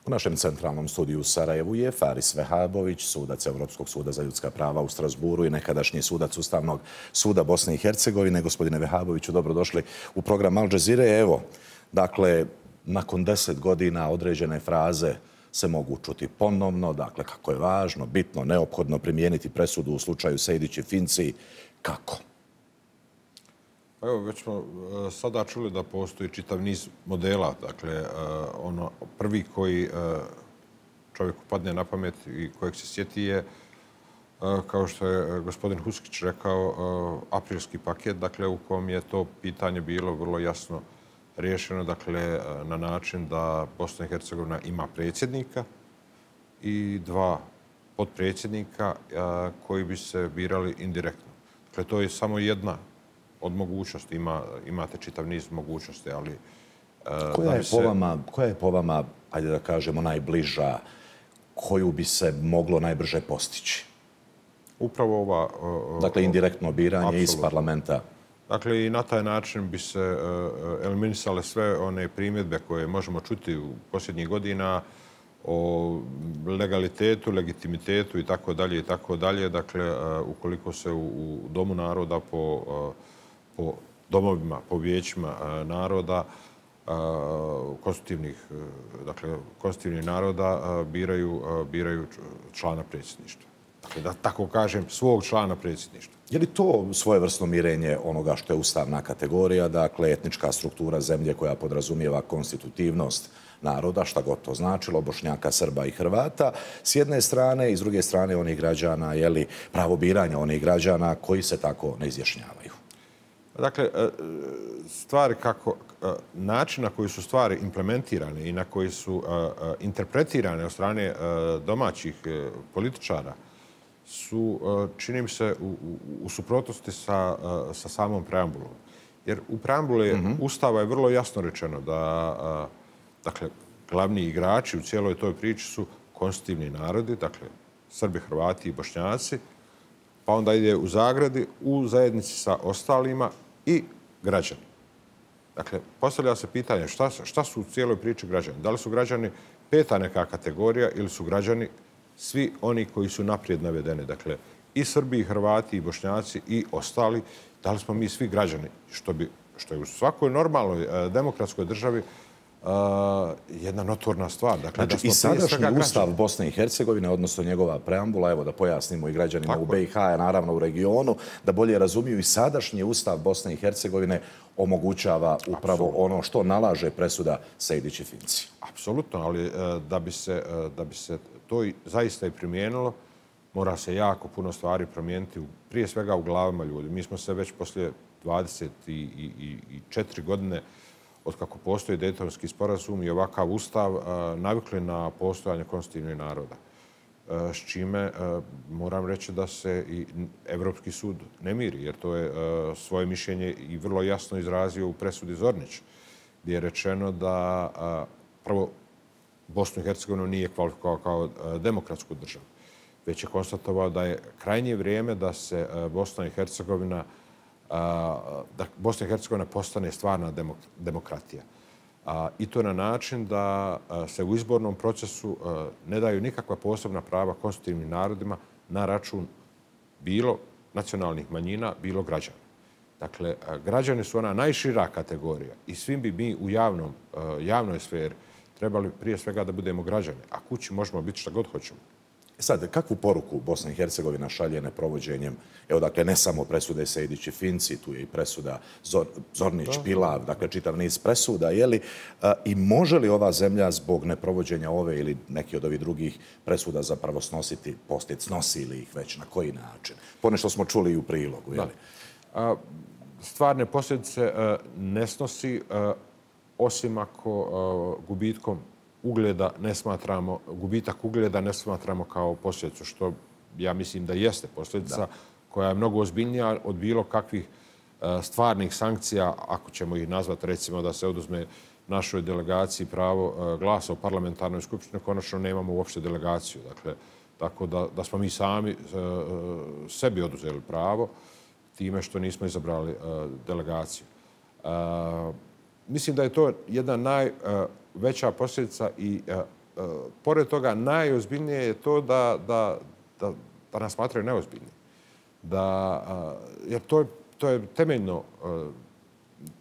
U našem centralnom studiju u Sarajevu je Faris Vehabović, sudac Europskog suda za ljudska prava u Strasburu i nekadašnji sudac Ustavnog suda Bosne i Hercegovine. Gospodine Vehaboviću, dobrodošli u program Al Jazeere. Evo, dakle, nakon 10 godina određene fraze se mogu čuti ponovno, dakle, kako je važno, bitno, neophodno primijeniti presudu u slučaju Sejdić i Finci. Kako? Evo, već smo sada čuli da postoji čitav niz modela. Dakle, ono prvi koji čovjeku padne na pamet i kojeg se sjeti je, kao što je gospodin Huskić rekao, aprilski paket, dakle, u kom je to pitanje bilo vrlo jasno riješeno, dakle, na način da Bosna i Hercegovina ima predsjednika i 2 potpredsjednika koji bi se birali indirektno. Dakle, to je samo jedna od mogućnosti. Imate čitav niz mogućnosti, ali... Koja je po vama, ajde da kažemo, najbliža, koju bi se moglo najbrže postići? Upravo ova... Dakle, indirektno biranje iz parlamenta. Dakle, i na taj način bi se eliminisale sve one primjedbe koje možemo čuti u posljednjih godina o legalitetu, legitimitetu i tako dalje i tako dalje. Dakle, ukoliko se u Domu naroda po domovima, po vijećima naroda, konstitutivnih naroda biraju člana predsjedništva. Dakle, da tako kažem, svog člana predsjedništva. Je li to svojevrsno mirenje onoga što je ustavna kategorija, dakle etnička struktura zemlje koja podrazumijeva konstitutivnost naroda, šta god to značilo, Bošnjaka, Srba i Hrvata, s jedne strane i s druge strane onih građana, je li pravo biranja onih građana koji se tako ne izjašnjavaju? Dakle, stvari kako, način na koji su stvari implementirane i na koji su interpretirane od strane domaćih političara su, čini mi se, u suprotnosti sa samom preambulom. Jer u preambuli Ustava je vrlo jasno rečeno da, dakle, glavni igrači u cijeloj toj priči su konstitutivni narodi, dakle, Srbi, Hrvati i Bošnjaci, pa onda ide u zagradi, u zajednici sa ostalima i građani. Dakle, postavlja se pitanje šta su u cijeloj priči građani? Da li su građani 5. neka kategorija ili su građani svi oni koji su naprijed navedeni? Dakle, i Srbi, i Hrvati, i Bošnjaci, i ostali. Da li smo mi svi građani? Što je u svakoj normalnoj demokratskoj državi jedna notorna stvar. Dakle, znači, i sadašnji Ustav Bosne i Hercegovine, odnosno njegova preambula, evo da pojasnimo i građanima u BiH, naravno u regionu, da bolje razumiju, i sadašnji Ustav Bosne i Hercegovine omogućava upravo ono što nalaže presuda Sejdić i Finci. Apsolutno, ali da bi se to zaista i primijenilo, mora se jako puno stvari promijeniti, prije svega u glavama ljudi. Mi smo se već poslije 24 godine od kako postoji Dejtonski sporazum i ovakav ustav navikli na postojanje konstitutivnih naroda. S čime moram reći da se i Evropski sud ne miri, jer to je svoje mišljenje i vrlo jasno izrazio u presudi Zornić, gdje je rečeno da prvo Bosnu i Hercegovinu nije kvalifikovao kao demokratsku državu, već je konstatovao da je krajnje vrijeme da se Bosna i Hercegovina postane stvarna demokratija. I to na način da se u izbornom procesu ne daju nikakva posebna prava konstitutivnim narodima na račun bilo nacionalnih manjina, bilo građana. Dakle, građani su ona najšira kategorija i svim bi mi u javnoj sferi trebali prije svega da budemo građani, a kući možemo biti šta god hoćemo. Sad, kakvu poruku Bosna i Hercegovina šalje neprovođenjem, evo dakle, ne samo presude Sejdić i Finci, tu je i presuda Zornić, Pilav, dakle, čitav niz presuda, je li? I može li ova zemlja zbog neprovođenja ove ili neki od ovih drugih presuda zapravo snositi posljedice, snosi li ih već, na koji način? Ponešto smo čuli i u prilogu, je li? Stvarne posljedice ne snosi, osim ako gubitkom ugleda ne smatramo, gubitak ugleda ne smatramo kao posljedicu, što ja mislim da jeste posljedica koja je mnogo ozbiljnija od bilo kakvih stvarnih sankcija, ako ćemo ih nazvati, recimo da se oduzme našoj delegaciji pravo glasa u parlamentarnoj skupštini, konačno nemamo uopšte delegaciju. Dakle, tako da smo mi sami sebi oduzeli pravo time što nismo izabrali delegaciju. Mislim da je to jedna najveća posljedica i pored toga najozbiljnije je to da nas smatraju neozbiljni. Jer to je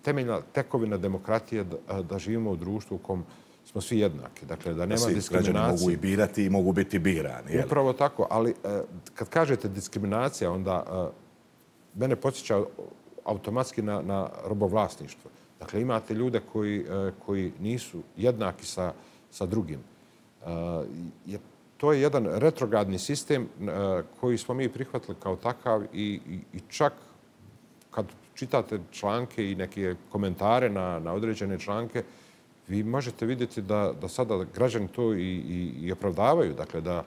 temeljna tekovina demokratije da živimo u društvu u kom smo svi jednaki. Dakle, da nema diskriminacije. Građani mogu i birati i mogu biti birani. Upravo tako, ali kad kažete diskriminacija, onda mene podsjeća automatski na robovlasništvo. Dakle, imate ljude koji nisu jednaki sa drugim. To je jedan retrogradni sistem koji smo mi prihvatili kao takav i čak kad čitate članke i neke komentare na određene članke, vi možete vidjeti da sada građani to i opravdavaju. Dakle, da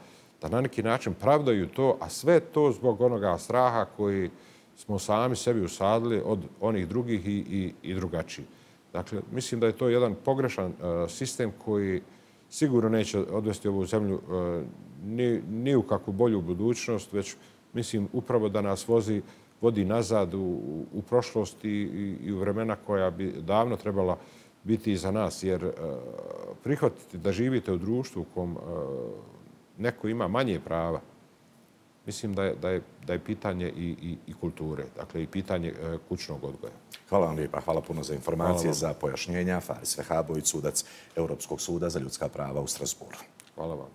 na neki način pravdaju to, a sve to zbog onoga straha koji smo sami sebi usadili od onih drugih i drugačiji. Dakle, mislim da je to jedan pogrešan sistem koji sigurno neće odvesti ovu zemlju ni u kakvu bolju budućnost, već mislim upravo da nas vodi nazad u prošlost i u vremena koja bi davno trebala biti iza nas. Jer prihvatiti da živite u društvu u kom neko ima manje prava, mislim da je pitanje i kulture, dakle i pitanje kućnog odgoja. Hvala vam lijepa. Hvala puno za informacije, za pojašnjenja. Faris Vehabović, sudac Europskog suda za ljudska prava u Strasburu. Hvala vam.